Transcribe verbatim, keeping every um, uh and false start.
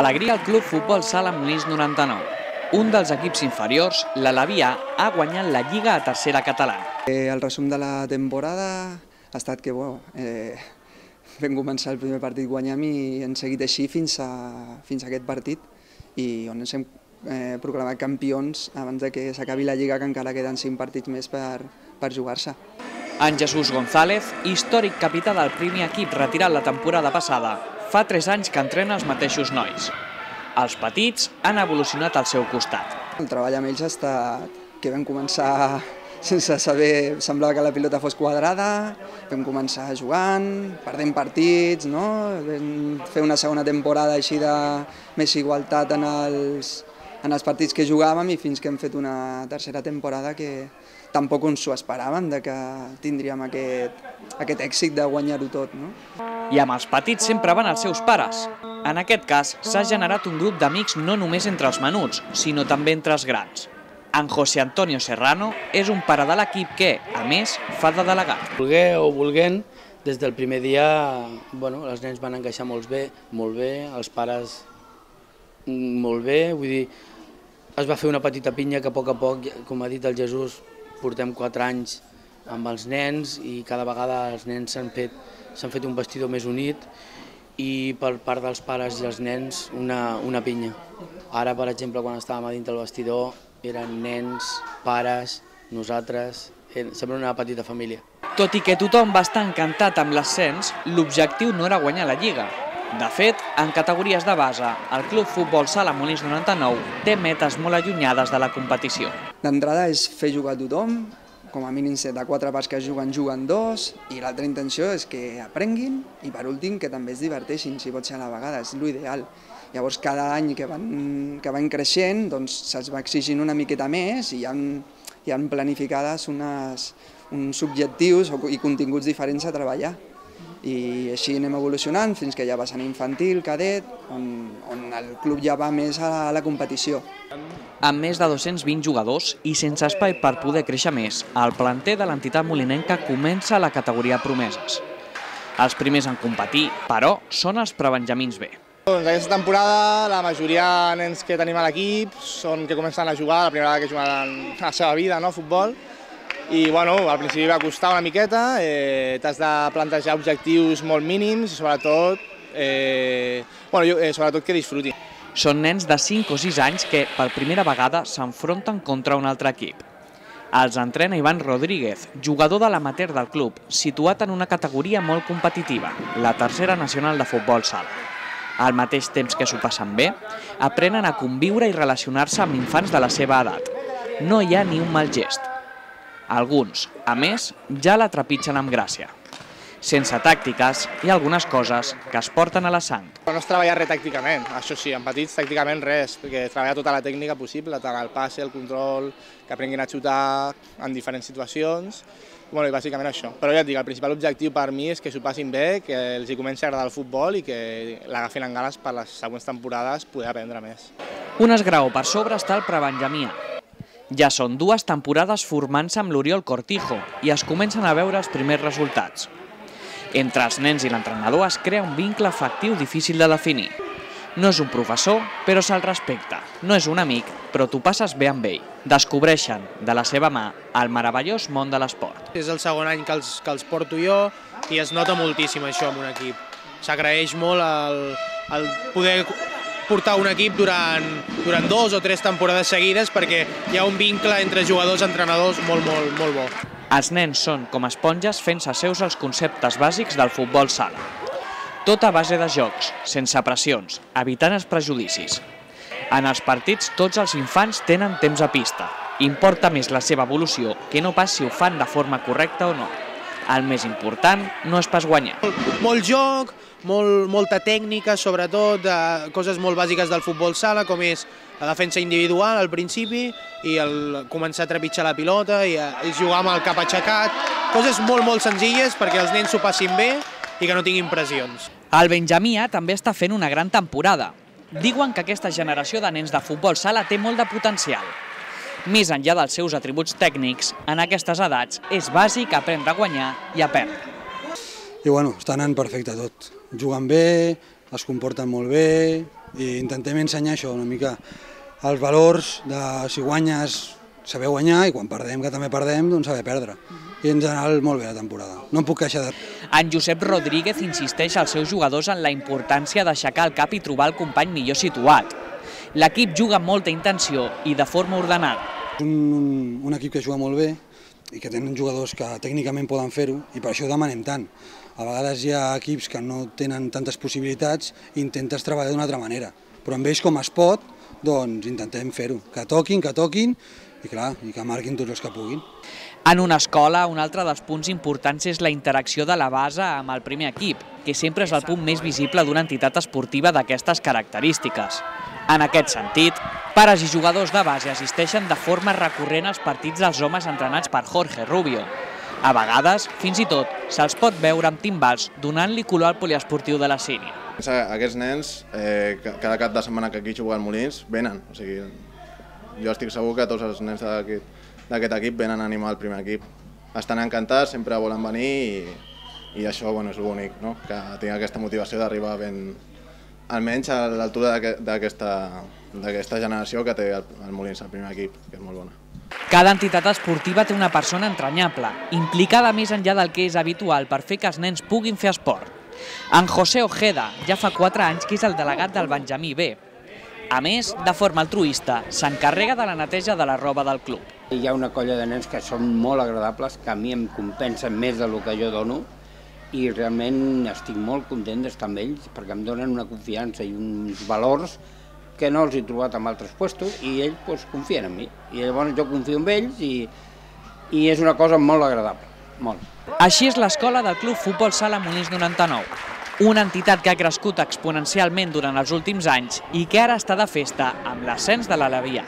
Alegria al Club Futbol Sala Molins noranta-nou. Un dels equips inferiors, l'Alevia, ha guanyat la Lliga a tercera catalana. El resum de la temporada ha estat que bueno, eh, vam començar el primer partit guanyant i hem seguit així fins a, fins a aquest partit i on ens hem eh, proclamat campions abans de que s'acabi la Lliga, que encara queden cinc partits més per, per jugar-se. En Jesús González, històric capità del primer equip retirat la temporada passada, fa tres anys que entrena els mateixos nois. Els petits han evolucionat al seu costat. El treball amb ells ha estat que vam començar sense saber, semblava que la pilota fos quadrada, vam començar jugant, perdent partits, no? Vam fer una segona temporada així de més igualtat en els, en els partits que jugàvem i fins que hem fet una tercera temporada que tampoc ens ho esperàvem, de que tindríem aquest, aquest èxit de guanyar-ho tot, no? I amb els petits sempre van els seus pares. En aquest cas, s'ha generat un grup d'amics no només entre els menuts, sinó també entre els grans. En José Antonio Serrano és un pare de l'equip que, a més, fa de delegat. Volguer o volguent, des del primer dia, bueno, els nens van encaixar molt bé, molt bé, els pares molt bé, vull dir, es va fer una petita pinya que a poc a poc, com ha dit el Jesús, portem quatre anys amb els nens i cada vegada els nens s'han fet, s'han fet un vestidor més unit i per part dels pares i els nens una, una pinya. Ara, per exemple, quan estàvem a dintre del vestidor, eren nens, pares, nosaltres, sembla una petita família. Tot i que tothom va estar encantat amb l'ascens, l'objectiu no era guanyar la Lliga. De fet, en categories de base, el Club Futbol Sala Molins noranta-nou té metes molt allunyades de la competició. D'entrada és fer jugar a tothom, com a mínim de quatre parts que juguen, juguen dos, i l'altra intenció és que aprenguin i per últim que també es diverteixin, si pot ser a la vegada, és l'ideal. Llavors cada any que van, que van creixent doncs, se'ls va exigint una miqueta més i hi ha, hi ha planificades unes, uns objectius i continguts diferents a treballar. I així anem evolucionant fins que ja va ser infantil, cadet, on, on el club ja va més a la competició. Amb més de dos-cents vint jugadors i sense espai per poder créixer més, el planter de l'entitat molinenca comença la categoria promeses. Els primers en competir, però, són els prebenjamins B. Doncs aquesta temporada la majoria de nens que tenim a l'equip són que comencen a jugar, la primera vegada que juguen a la seva vida, no, futbol. I bueno, al principi va costar una miqueta, eh, t'has de plantejar objectius molt mínims i sobretot, eh, bueno, jo, eh, sobretot que disfrutin. Són nens de cinc o sis anys que per primera vegada s'enfronten contra un altre equip. Els entrena Ivan Rodríguez, jugador de l'amateur del club, situat en una categoria molt competitiva, la tercera nacional de futbol sala. Al mateix temps que s'ho passen bé, aprenen a conviure i relacionar-se amb infants de la seva edat. No hi ha ni un mal gest. Alguns, a més, ja la trepitgen amb gràcia. Sense tàctiques, hi ha algunes coses que es porten a la sang. No es treballa res tàcticament, això sí, en petits tàcticament res, perquè es treballa tota la tècnica possible, tant el passe, el control, que aprenguin a xutar en diferents situacions, bueno, i bàsicament això. Però ja et dic, el principal objectiu per mi és que s'ho passin bé, que els hi comenci a agradar el futbol i que l'agafin en ganes per les següents temporades poder aprendre més. Un esgraó per sobre està el prebenjamí A. Ja són dues temporades formant-se amb l'Oriol Cortijo i es comencen a veure els primers resultats. Entre els nens i l'entrenador es crea un vincle afectiu difícil de definir. No és un professor, però se'l respecta. No és un amic, però t'ho passes bé amb ell. Descobreixen, de la seva mà, el meravellós món de l'esport. És el segon any que els, que els porto jo i es nota moltíssim això en un equip. S'agraeix molt el, el poder portar un equip durant, durant dos o tres temporades seguides perquè hi ha un vincle entre jugadors i entrenadors molt, molt, molt bo. Els nens són com esponges fent-se seus els conceptes bàsics del futbol sala. Tot a base de jocs, sense pressions, evitant els prejudicis. En els partits tots els infants tenen temps a pista. Importa més la seva evolució que no pas si ho fan de forma correcta o no. El més important no és pas guanyar. Molt joc, molt, molta tècnica, sobretot eh, coses molt bàsiques del futbol sala, com és la defensa individual al principi i el començar a trepitjar la pilota i, i jugar amb el cap aixecat. Coses molt, molt senzilles perquè els nens s'ho passin bé i que no tinguin pressions. El Benjamí A també està fent una gran temporada. Diuen que aquesta generació de nens de futbol sala té molt de potencial. Més enllà dels seus atributs tècnics, en aquestes edats és bàsic aprendre a guanyar i a perdre. I bueno, està anant perfecte tot. Juguen bé, es comporten molt bé, I intentem ensenyar això una mica, els valors de si guanyes saber guanyar i quan perdem, que també perdem, doncs saber perdre. I en general molt bé la temporada, no em puc queixar de... En Josep Rodríguez insisteix als seus jugadors en la importància d'aixecar el cap i trobar el company millor situat. L'equip juga amb molta intenció i de forma ordenada. És un, un equip que juga molt bé i que tenen jugadors que tècnicament poden fer-ho i per això ho demanem tant. A vegades hi ha equips que no tenen tantes possibilitats i intentes treballar d'una altra manera, però amb ells com es pot, doncs intentem fer-ho, que toquin, que toquin i clar, i que marquin tots els que puguin. En una escola, un altre dels punts importants és la interacció de la base amb el primer equip, que sempre és el punt més visible d'una entitat esportiva d'aquestes característiques. En aquest sentit, pares i jugadors de base assisteixen de forma recurrent als partits dels homes entrenats per Jorge Rubio. A vegades, fins i tot, se'ls pot veure amb timbals donant-li color al poliesportiu de la Sínia. Aquests nens, eh, cada cap de setmana que aquí juguen Molins, venen. O sigui, jo estic segur que tots els nens d'aquest equip venen a animar el primer equip. Estan encantats, sempre volen venir i, i això bueno, és l'únic, no? Que tinc aquesta motivació d'arribar ben, almenys a l'altura d'aquesta generació que té el, el Molins, el primer equip, que és molt bona. Cada entitat esportiva té una persona entranyable, implicada més enllà del que és habitual per fer que els nens puguin fer esport. En José Ojeda ja fa quatre anys que és el delegat del Benjamí B. A més, de forma altruista, s'encarrega de la neteja de la roba del club. Hi ha una colla de nens que són molt agradables, que a mi em compensen més del que jo dono i realment estic molt content d'estar amb ells perquè em donen una confiança i uns valors que no els he trobat en altres puestos i ells doncs, confien en mi. I llavors jo confio en ells i, i és una cosa molt agradable, molt. Així és l'escola del Club Futbol Sala Molins noranta-nou, una entitat que ha crescut exponencialment durant els últims anys i que ara està de festa amb l'ascens de l'Alevià.